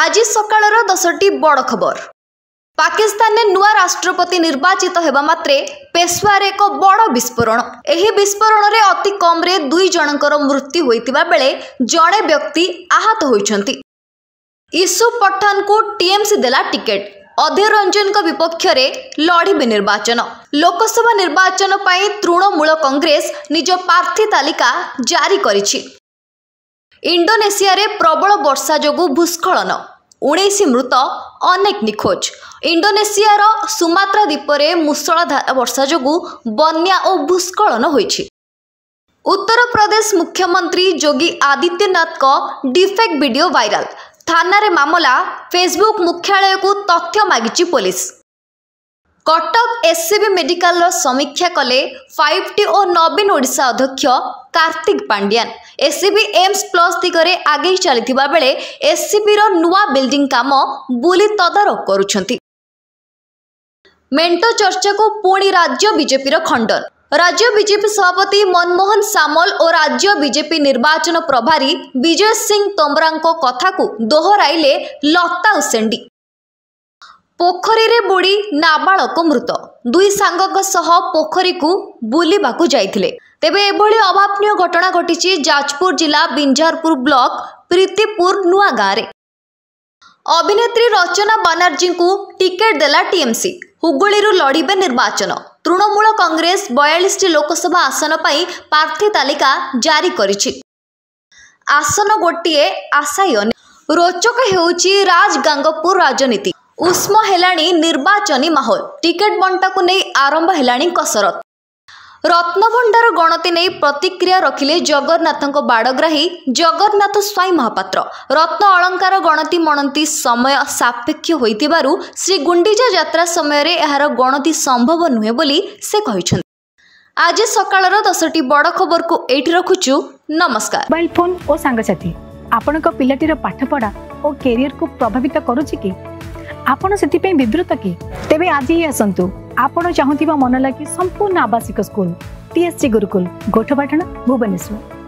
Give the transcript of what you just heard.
ଆଜି ସକାଳର 10ଟି ବଡ଼ ଖବର। ପାକିସ୍ତାନରେ ନୂଆ ରାଷ୍ଟ୍ରପତି ନିର୍ବାଚିତ ହେବା ମାତ୍ରେ ପେଶୱାରରେ ଏକ ବଡ଼ ବିସ୍ଫୋରଣ। ଏହି ବିସ୍ଫୋରଣରେ ଅତି କମ୍ରେ 2 ଜଣଙ୍କର ମୃତ୍ୟୁ ହୋଇଥିବା ବେଳେ ଜଣେ ବ୍ୟକ୍ତି ଆହତ ହୋଇଛନ୍ତି। ୟୁସୁଫ ପଠାନଙ୍କୁ ଟିଏମ୍ସି ଦେଲା ଟିକେଟ୍, ଅଧୀର ରଞ୍ଜନଙ୍କ ବିପକ୍ଷରେ ଲଢ଼ିବେ ନିର୍ବାଚନ। ଲୋକସଭା ନିର୍ବାଚନ ପାଇଁ ତୃଣମୂଳ କଂଗ୍ରେସ ନିଜ ପ୍ରାର୍ଥୀ ତାଲିକା ଜାରି କରିଛି। ଇଣ୍ଡୋନେସିଆରେ ପ୍ରବଳ ବର୍ଷା ଯୋଗୁଁ ଭୂସ୍ଖଳନ, 19 ମୃତ, ଅନେକ ନିଖୋଜ। ଇଣ୍ଡୋନେସିଆର ସୁମାତ୍ରା ଦ୍ୱୀପରେ ମୂଷଳଧାର ବର୍ଷା ଯୋଗୁଁ ବନ୍ୟା ଓ ଭୂସ୍ଖଳନ ହୋଇଛି। ଉତ୍ତରପ୍ରଦେଶ ମୁଖ୍ୟମନ୍ତ୍ରୀ ଯୋଗୀ ଆଦିତ୍ୟନାଥଙ୍କ ଡିପଫେକ୍ ଭିଡିଓ ଭାଇରାଲ, ଥାନାରେ ମାମଲା, ଫେସବୁକ୍ ମୁଖ୍ୟାଳୟକୁ ତଥ୍ୟ ମାଗିଛି ପୋଲିସ। କଟକ ଏସ୍ସିବି ମେଡିକାଲର ସମୀକ୍ଷା କଲେ 5ଟି ଓ ନବୀନ ଓଡ଼ିଶା ଅଧ୍ୟକ୍ଷ Kartik Pandian. SCB AIIMS plus ଦିଗରେ ଆଗେଇ ଚାଲିଥିବା ବେଳେ ଏସ୍ସିବିର ନୂଆ ବିଲ୍ଡିଂ କାମ ବୁଲି ତଦାରଖ କରୁଛନ୍ତି। ମେଣ୍ଟ ଚର୍ଚ୍ଚାକୁ ପୁଣି ରାଜ୍ୟ ବିଜେପିର ଖଣ୍ଡନ। ରାଜ୍ୟ ବିଜେପି ସଭାପତି ମନମୋହନ ସାମଲ ଓ ରାଜ୍ୟ ବିଜେପି ନିର୍ବାଚନ ପ୍ରଭାରୀ ବିଜୟ ସିଂ ତୋମରାଙ୍କ କଥାକୁ ଦୋହରାଇଲେ ଲତା ଉସେଣ୍ଡି। ପୋଖରୀରେ ବୁଡ଼ି ନାବାଳକ ମୃତ। 2 ସାଙ୍ଗଙ୍କ ସହ ପୋଖରୀକୁ ବୁଲିବାକୁ ଯାଇଥିଲେ। ତେବେ ଏଭଳି ଅଭାବନୀୟ ଘଟଣା ଘଟିଛି ଯାଜପୁର ଜିଲ୍ଲା ବିଞ୍ଝାରପୁର ବ୍ଲକ ପ୍ରୀତିପୁର ନୂଆ ଗାଁରେ। ଅଭିନେତ୍ରୀ ରଚନା ବାନାର୍ଜୀଙ୍କୁ ଟିକେଟ୍ ଦେଲା ଟିଏମ୍ସି, ହୁଗୁଳିରୁ ଲଢ଼ିବେ ନିର୍ବାଚନ। ତୃଣମୂଳ କଂଗ୍ରେସ 42ଟି ଲୋକସଭା ଆସନ ପାଇଁ ପ୍ରାର୍ଥୀ ତାଲିକା ଜାରି କରିଛି। ଆସନ ଗୋଟିଏ, ଆଶାୟୀ ଅନେକ। ରୋଚକ ହେଉଛି ରାଜଗାଙ୍ଗପୁର ରାଜନୀତି। ଉଷ୍ମ ହେଲାଣି ନିର୍ବାଚନୀ ମାହୋଲ। ଟିକେଟ୍ ବଣ୍ଟାକୁ ନେଇ ଆରମ୍ଭ ହେଲାଣି କସରତ। ରତ୍ନଭଣ୍ଡାର ଗଣତି ନେଇ ପ୍ରତିକ୍ରିୟା ରଖିଲେ ଜଗନ୍ନାଥଙ୍କ ବାଡ଼ଗ୍ରାହୀ ଜଗନ୍ନାଥ ସ୍ୱାଇଁ ମହାପାତ୍ର। ରତ୍ନ ଅଳଙ୍କାର ଗଣତି ମଣନ୍ତି ସମୟ ସାପେକ୍ଷ ହୋଇଥିବାରୁ ଶ୍ରୀଗୁଣ୍ଡିଚା ଯାତ୍ରା ସମୟରେ ଏହାର ଗଣତି ସମ୍ଭବ ନୁହେଁ ବୋଲି ସେ କହିଛନ୍ତି। ଆଜି ସକାଳର 10ଟି ବଡ଼ ଖବରକୁ ଏଇଠି ରଖୁଛୁ। ନମସ୍କାର। ମୋବାଇଲ ଫୋନ୍ ଓ ସାଙ୍ଗସାଥି ଆପଣଙ୍କ ପିଲାଟିର ପାଠପଢ଼ା ଓ କ୍ୟାରିୟରକୁ ପ୍ରଭାବିତ କରୁଛି କି? ଆପଣ ସେଥିପାଇଁ ବିବ୍ରତ କି? ତେବେ ଆଜି ହିଁ ଆସନ୍ତୁ ଆପଣ ଚାହୁଁଥିବା ମନ ଲାଗି ସମ୍ପୂର୍ଣ୍ଣ ଆବାସିକ ସ୍କୁଲ, ଟିଏସସି ଗୁରୁକୁଲ, ଗୋଠପାଟଣା, ଭୁବନେଶ୍ୱର।